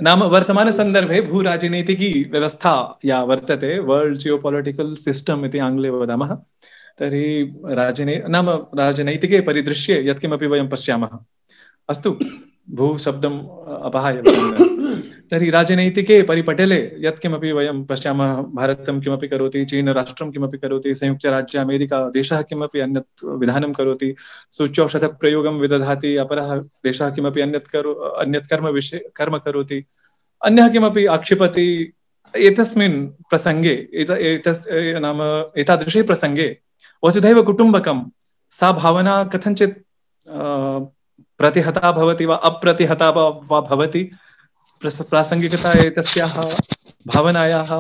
नाम वर्तमानसन्दर्भे भूराजनैतिकी व्यवस्था या वर्तते, वर्ल्ड जियोपॉलिटिकल सिस्टम इति आङ्ग्ले वदामः, तर्हि राजने नाम राजनैतिके परिदृश्ये यत्किमपि वयं पश्यामः, अस्तु भूशब्दम् अपहाय तर्हि राजनैतिके परिपटले यत्किमपि वयं पश्यामः, भारतं किमपि करोति, चीन राष्ट्रं किमपि करोति, संयुक्तराज्य अमेरिका देशः किमपि अन्यत् विधानं करोति, सूच्यौषधप्रयोगं विदधाति, अपरः देशः किमपि अन्यत् करो अन्यत् कर्म विषये कर्म करोति, अन्यः किमपि आक्षिपति। एतस्मिन् प्रसङ्गे एत एतस् नाम एतादृशे प्रसङ्गे वसुधैव कुटुम्बकं सा भावना कथञ्चित् प्रतिहता भवति वा अप्रतिहता वा भवति, प्रासङ्गिकता एतस्याः भावनायाः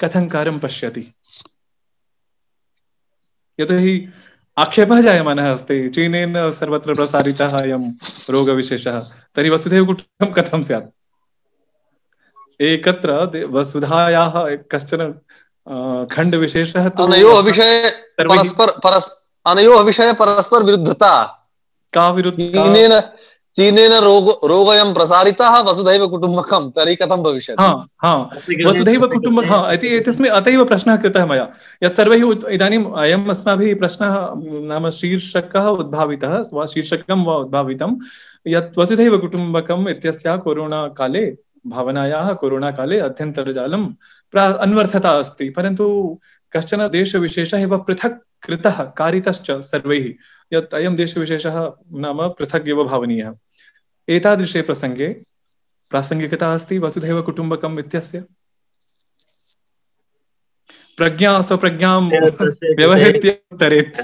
कथं कार्यं पश्यति। यतोहि आक्षेपः जायमानः अस्ति, चीनेन सर्वत्र प्रसारितः अयं रोगविशेषः, तर्हि वसुधैव कुटुम्बकं कथं स्यात्। एकत्र वसुधायाः कश्चन खण्डविशेषः तु अनयोः विषये परस्पर परस् अनयोः विषये परस्पर विरुद्धता का विरुद्धता। चीनेन चीनेन रोग रोगयं प्रसारितः वसुधैव कुटुम्बकं, तर्हि कथं भविष्यति। हाँ हाँ वसुधैव कुटुम्बकं, हाँ इति एतस्मिन् अतैव प्रश्नः कृतः मया, यत् सर्वैः इदानीम् अयम् अस्माभिः प्रश्नः नाम शीर्षकः उद्भावितः वा शीर्षकं वा उद्भावितं, यत् वसुधैव कुटुम्बकम् इत्यस्य कोरोना काले भावनायाः कोरोना काले अध्यन्तर्जालं प्रा अन्वर्थता अस्ति, परन्तु कश्चन देशविशेषः एव पृथक् कृतः कारितश्च सर्वैः, यत् अयं देशविशेषः नाम पृथक् एव भावनीयः। एतादृशे प्रसङ्गे प्रासङ्गिकता अस्ति वसुधैव कुटुम्बकम् इत्यस्य। प्रज्ञा स्वप्रज्ञां व्यवहृत्य उत्तरेत्।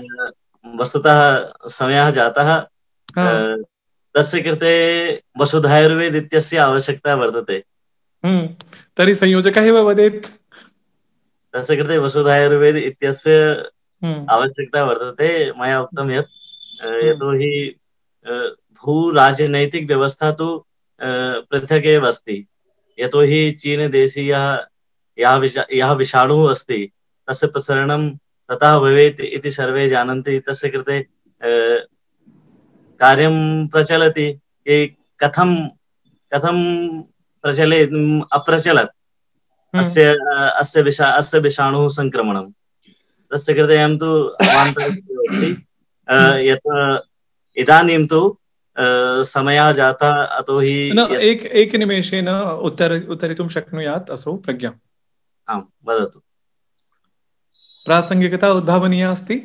वस्तुतः समयः जातः, तस्य कृते वसुधैर्वेद इत्यस्य आवश्यकता वर्तते। हम्म तर्हि संयोजकः एव वदेत्। तस्य कृते वसुधैर्वेद इत्यस्य आवश्यकता वर्तते। मया उक्तं यत् यतोहि भूराजनैतिक व्यवस्था तु पृथक् एव अस्ति, यतोहि चीनदेशीयः यः यः विषाणुः अस्ति तस्य प्रसरणं ततः भवेत् इति सर्वे जानन्ति। तस्य कृते कार्यं प्रचलति, कि कथं कथं प्रचलेत् अप्रचलत् अस्य अस्य विषा अस्य विषाणुः संक्रमणं। तस्य कृते अहं तु अवान्तरमस्ति यत् इदानीं तु समयः जातः, अतो हि एक एकनिमेषेन उत्तर उत्तरितुं शक्नुयात् असौ प्रज्ञा। आम् वदतु। प्रासङ्गिकता उद्भावनीया अस्ति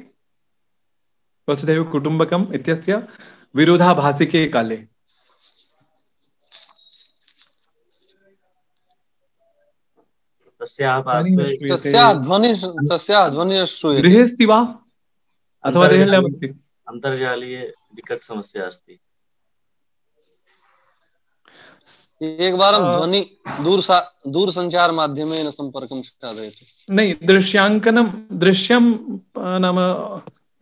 वसुधैव कुटुम्बकम् इत्यस्य विरोधाभासिके काले। तस्याः पार्श्वे तस्याः ध्वनिः तस्याः ध्वनिः श्रूयते। गृहे अस्ति वा अथवा देहल्याम् अस्ति? अन्तर्जालीय विकट समस्या अस्ति। एकवारं ध्वनि दूरसा दूरसञ्चार माध्यमेन सम्पर्कं साधयतु। नहीं, दृश्याङ्कनं दृश्यं नाम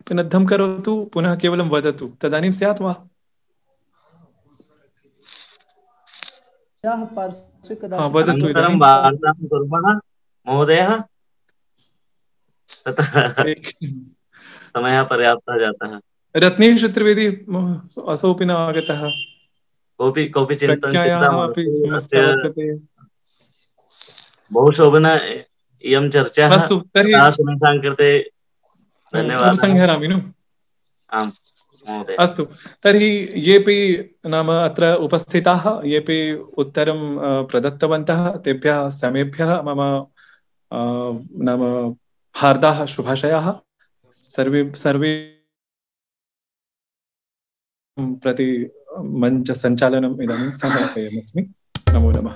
पिनद्धं करोतु, पुनः केवलं वदतु, तदानीं स्यात् वा? हाँ, वदतु इदानीं। वार्तां कुर्मः महोदयः, समयः पर्याप्तः जातः। रत्नेश चतुर्वेदी असोऽपि न आगतः। कोऽपि कोऽपि चिन्ता समस्या वर्तते। बहु शोभना इयं चर्चा। अस्तु तर्हि सुनितां कृते धन्यवादः। उपसंहरामि नु? आम् महोदय। अस्तु तर्हि येऽपि नाम अत्र उपस्थिताः येऽपि उत्तरं प्रदत्तवन्तः तेभ्यः समेभ्यः मम नाम हार्दाः शुभाशयाः। सर्वे सर्वे प्रति मञ्च सञ्चालनम् इदानीं समापयामि। नमो नमः।